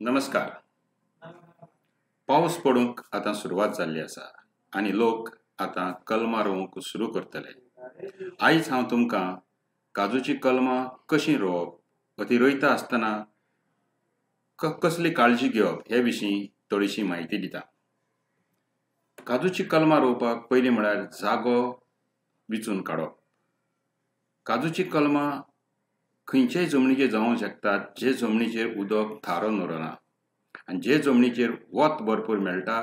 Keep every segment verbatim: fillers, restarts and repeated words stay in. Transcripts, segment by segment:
नमस्कार. पावस पडूंक आतां सुरवात जाल्ली आसा आनी लोक आतां कलमां रोवंक सुरू करतले. आयज हांव तुमकां काजूची कलमां कशीं रोवप वा ती रोयता आसतना कसली काळजी घेवप हे विशीं थोडीशी म्हायती दिता. काजूची कलमां रोवपाक पयलीं म्हळ्यार जागो विचून काडप. काजूची कलमां खंयचेय जमनीचेर जावंक शकतात, जे जमनीचेर उदक थारोवन उरना आनी जे जमनीचेर वत भरपूर मेळटा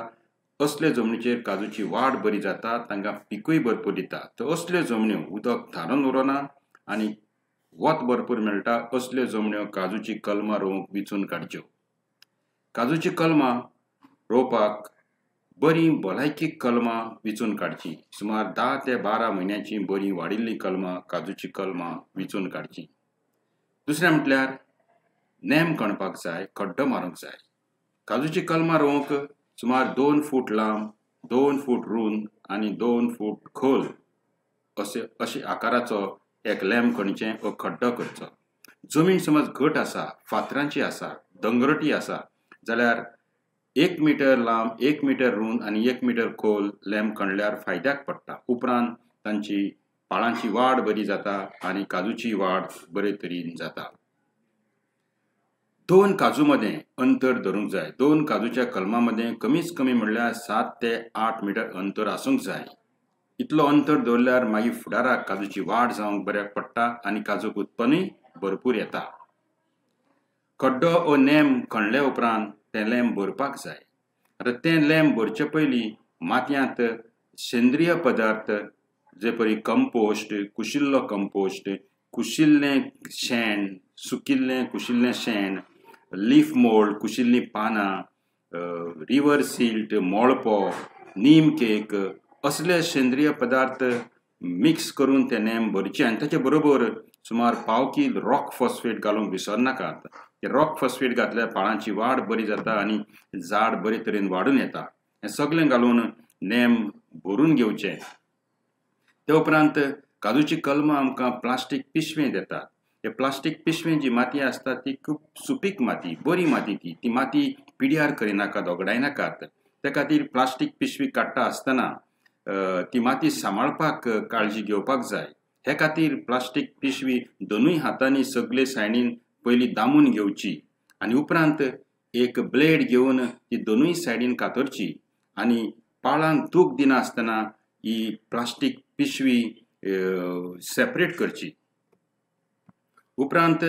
असले जमनीचेर काजूची वाड बरी जाता, तांकां पिकूय भरपूर दिता. तर असल्यो जमन्यो उदक थारोवन उरना आनी वत भरपूर मेळटा असल्यो जमन्यो काजूची कलमां रोवंक विचून काडच्यो. काजूची कलमां रोवपाक बरीं भलायकी कलमां विचून काडचीं. सुमार धा ते बारा म्हयन्याची बरीं वाडिल्लीं कलमां काजूची कलमां विचून काडचीं. दुसरें म्हटल्यार नेम खणपाक जाय, खड्डो मारूंक जाय. काजूची कलमां रोवंक सुमार दोन फूट लांब, दोन फूट रूंद आनी दोन फूट खोल अशे अशे आकाराचो एक लेम खणचें वा खड्डो करचो. जमीन समज घट आसा, फातरांची आसा, दोंगरटी आसा जाल्यार एक मिटर लांब, एक मिटर रूंद आनी एक मिटर खोल लेम खणल्यार फायद्याक पडटा. उपरांत तांची पाळांची वाड बरी जाता आनी काजूची वाड बरे तरेन जाता. दोन काजू मदें अंतर धरूंक जाय. दोन काजूच्या कलमां मदें कमीच कमी म्हणल्यार सात ते आठ मिटर अंतर आसूंक जाय. इतलो अंतर दवरल्यार मागीर फुडाराक काजूची वाड जावंक बऱ्याक पडटा आनी काजूक उत्पन्नूय भरपूर येता. खड्डो ओ नेम खणले उपरांत तें लेम भरपाक जाय. आतां तें लेम भरचे पयलीं मातयांत सेंद्रीय पदार्थ जे परी कंपोस्ट, कुशिल्लो कंपोस्ट, कुशिल्लें शेण, सुकिल्लें कुशिल्लें शेण, लीफ मोल्ड, कुशिल्लीं पानां, रिवर सिल्ट, मोळपो, नीम केक असले सेंद्रीय पदार्थ मिक्स करून ते नेम भरचे आनी ताचे बरोबर सुमार पाव कील रॉक फॉस्फेट घालूंक विसरनाकात. ते रॉक फॉस्फेट घातल्यार पाळांची वाड बरी जाता आनी झाड बरे तरेन वाडून येता. हें सगळें घालून नेम भरून घेवचें. ते उपरांत काजूची कलमां आमकां प्लास्टीक पिशवें दितात. हे प्लास्टीक पिशवें जी माती आसता ती खूब सुपीक माती, बरी माती. ती ती माती पिड्यार करिनाकात, ओगडायनाकात. ते खातीर प्लास्टीक पिशवी काडटा आसतना ती माती सांबाळपाक काळजी घेवपाक जाय. हे खातीर प्लास्टीक पिशवी दोनूय हातांनी सगळे सायडीन पयलीं दामून घेवची आनी उपरांत एक ब्लेड घेवन ती दोनूय सायडीन कातरची आनी पाळांक दूख दिना आसतना ही प्लास्टीक पिशवी सेपरेट करची. उपरांत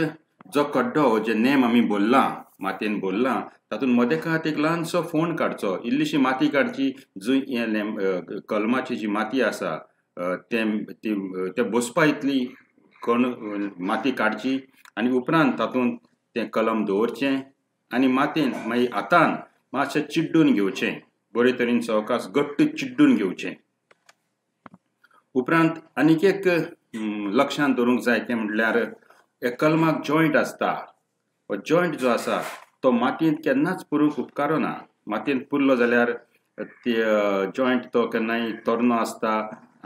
जो खड्डो जे नेम आमी भरला, मातयेन भरला, तातूंत मदेकात एक ल्हानसो फोंड काडचो, इल्लीशी माती काडची. जंय हें लेम कलमाची जी माती आसा तें तें बसपा इतली कण माती काडची आनी उपरांत तातूंत तें कलम दवरचें आनी मातयेन मागीर हातान मातशें चिड्डून घेवचें, बरे तरेन सवकास घट्ट चिड्डून घेवचें. उपरांत आनीक एक लक्षांत दवरूंक जाय तें म्हटल्यार एक कलमाक जॉयंट आसता. हो जॉयंट जो आसा तो मातयेंत केन्नाच पुरूंक उपकारना. मातयेंत पुरलो जाल्यार ते जॉयंट तो केन्नाय तरनो आसता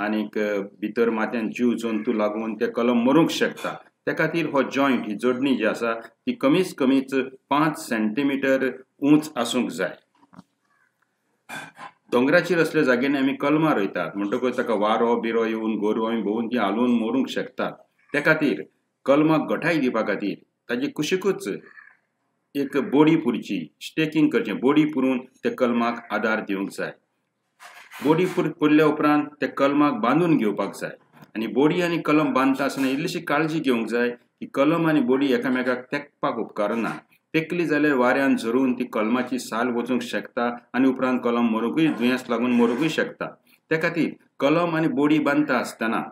आनीक भितर मातयेंत जीव जंतू लागून ते कलम मरूंक शकता. ते खातीर हो जॉयंट, ही जोडणी जी आसा ती कमीच कमीच पांच सेंटीमिटर उंच आसूंक जाय. दोंगराचेर असल्या जाग्यांनी आमी कलमां रोयतात म्हणटकच ताका वारो बिरो येवन गोरवां भोंवून ती हालून मरूंक शकतात. ते खातीर कलमाक घटाय दिवपा खातीर ताजे कुशिकूच एक बोडी पुरची, स्टेकिंग करचें. बोडी पुरून ते कलमाक आदार दिवंक जाय. बोडी पुर पुरल्या उपरांत ते कलमाक बांदून घेवपाक जाय आनी बोडी आनी कलम बांदता आसतना इल्लीशी काळजी घेवंक जाय की कलम आनी बोडी एकामेकाक तेंकपाक उपकारना. तेकली जाल्यार वाऱ्यान झरून ती कलमाची साल वचूंक शकता आनी उपरांत कलम मरूंकूय, दुयेंस लागून मरूंकूय शकता. ते खातीर कलम आनी बोडी बांदता आसतना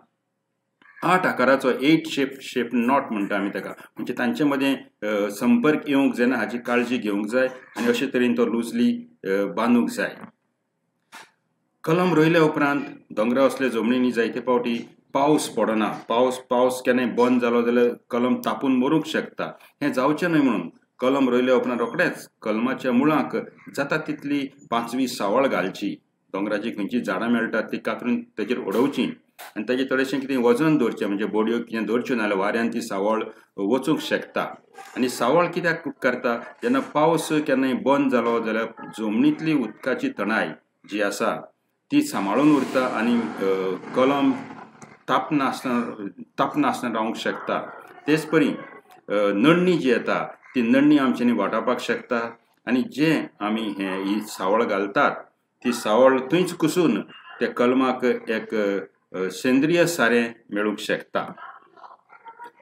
आठ आकाराचो एट शेप शेप not म्हणटा आमी ताका, म्हणजे तांचे मदें संपर्क येवंक जायना हाची काळजी घेवंक जाय आनी अशे तरेन तो लुजली बांदूंक जाय. कलम रोयल्या उपरांत दोंगरा असल्या जमनींनी जायते फावटी पावस पडना. पावस पावस केन्नाय बंद जालो जाल्यार कलम तापून मरूंक शकता. हें जावचें न्हय म्हणून कलम रोयल्या उपरांत रोखडेंच कलमाच्या मुळाक जाता तितली पांचवी सावळ घालची. दोंगराची खंयची झाडां मेळटात ती कातरून तेजेर उडोवची. आनी ताजें थोडेशें कितें वजन दवरचें, म्हणजे बोडयो कितें दवरच्यो नाजाल्यार वाऱ्यान ती सावळ वचूंक शकता. आनी सावळ कित्याक करता, जेन्ना पावस केन्नाय बंद जालो जाल्यार जमनींतली उदकाची तणाय जी आसा ती सांबाळून उरता आनी कलम तापनासतना तापनासतना रावंक शकता. तेच परी नडणी जी येता ती नडणी आमच्यांनी वाटावपाक शकता. आनी जे आमी हे ही सावळ घालतात ती सावळ थंयच कुसून त्या कलमाक एक सेंद्रीय सारें मेळूंक शकता.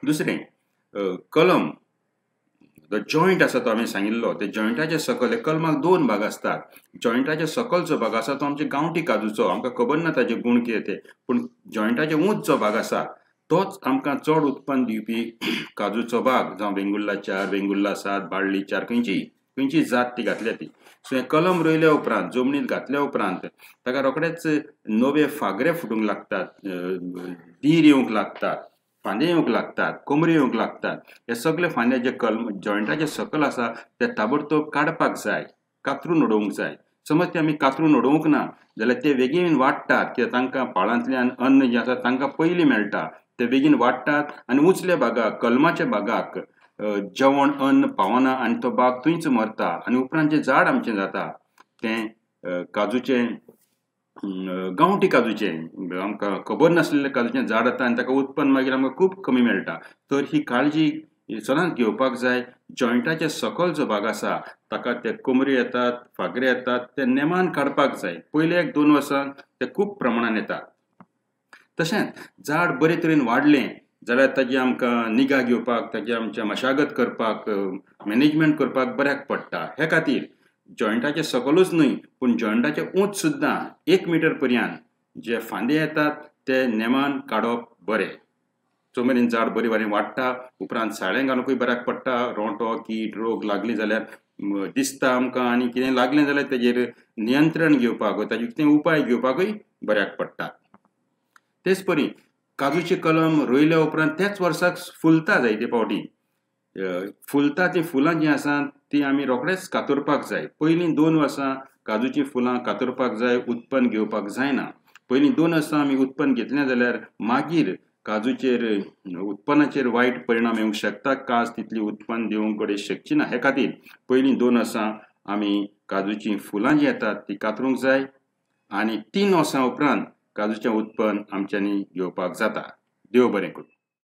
दुसरें, कलम जो जॉयंट आसा तो आमी सांगिल्लो, ते जॉयंटाच्या सकयल कलमाक दोन भाग आसतात. जॉयंटाच्या सकयल जो भाग आसा तो आमच्या गांवठी काजूचो, आमकां खबर ना ताजे गूण कितें ते, पूण जॉयंटाचे ऊंच जो भाग आसा तोच आमकां चड उत्पन्न दिवपी काजूचो भाग, जावं वेंगुर्ला चार, वेंगुर्ला सात, बाळ्ळी चार, खंयची खंयची जात ती घातल्या ती. सो हें कलम रोयल्या उपरांत, जमनींत घातल्या उपरांत ताका रोखडेच नवे फागरे फुटूंक लागतात, दीर येवंक लागतात, फांदे येवंक लागतात, कोमऱ्यो येवंक लागतात. हे सगळे फांदे जे कलम जॉयंटाचे सकयल आसा ते ताबडतोब काडपाक जाय, कातरून उडोवंक जाय. समज ते आमी कातरून उडोवंक ना जाल्यार ते बेगीन वाडटात, कित्याक तांकां पाळांतल्यान अन्न जें आसा तांकां पयलीं मेळटा, ते बेगीन वाडटात आनी उंचल्या भागाक, कलमाच्या भागाक जेवण अन्न पावना आनी तो बाग थंयच मरता. आनी उपरांत जें झाड आमचें जाता तें काजूचें, गांवठी काजूचें, आमकां खबर नासलेलें काजूचें झाड जाता आनी ताका उत्पन्न मागीर आमकां खूब कमी मेळटा. तर ही काळजी सदांच घेवपाक जाय. जॉयंटाच्या सकयल जो भाग आसा ताका ते कोमऱ्यो येतात, फागरे येतात, ते नेमान काडपाक जाय. पयले एक दोन वर्सां ते खूब प्रमाणान येतात. तशेंच झाड बरे तरेन वाडलें जाल्यार ताजी आमकां निगा घेवपाक, ताजी आमच्या मशागत करपाक, मॅनेजमेंट करपाक बऱ्याक पडटा. हे खातीर जॉयंटाचे सकलूच न्हय पूण जॉयंटाचे ऊंच सुद्दां एक मिटर पर्यंत जे फांदे येतात ते नेमान काडप बरें. जो मेरेन झाड बरी बरें वाडटा उपरांत साळें घालुंकूय बऱ्याक पडटा. रोंटो, कीट, रोग लागली जाल्यार दिसता आमकां आनी कितें लागलें जाल्यार तेजेर नियंत्रण घेवपाक, ताजेर कितें उपाय घेवपाकूय बऱ्याक पडटा. तेच परी काजूचें कलम रोयल्या उपरांत त्याच वर्साक फुलता जायते फावटी. फुलता तीं फुलां जीं आसा तीं आमी रोखडेच कातरपाक जाय. पयलीं दोन वर्सां काजूचीं फुलां कातरपाक जाय, उत्पन्न घेवपाक जायना. पयलीं दोन वर्सां आमी उत्पन्न घेतलें जाल्यार मागीर काजूचेर उत्पन्नाचेर वायट परिणाम येवंक शकता, काज तितली उत्पन्न दिवंक घडये शकची ना. हे खातीर पयलीं दोन वर्सां आमी काजूचीं फुलां जीं येतात तीं कातरूंक जाय आनी तीन वर्सां उपरांत काजूचें उत्पन्न आमच्यांनी घेवपाक जाता. देव बरें करूं.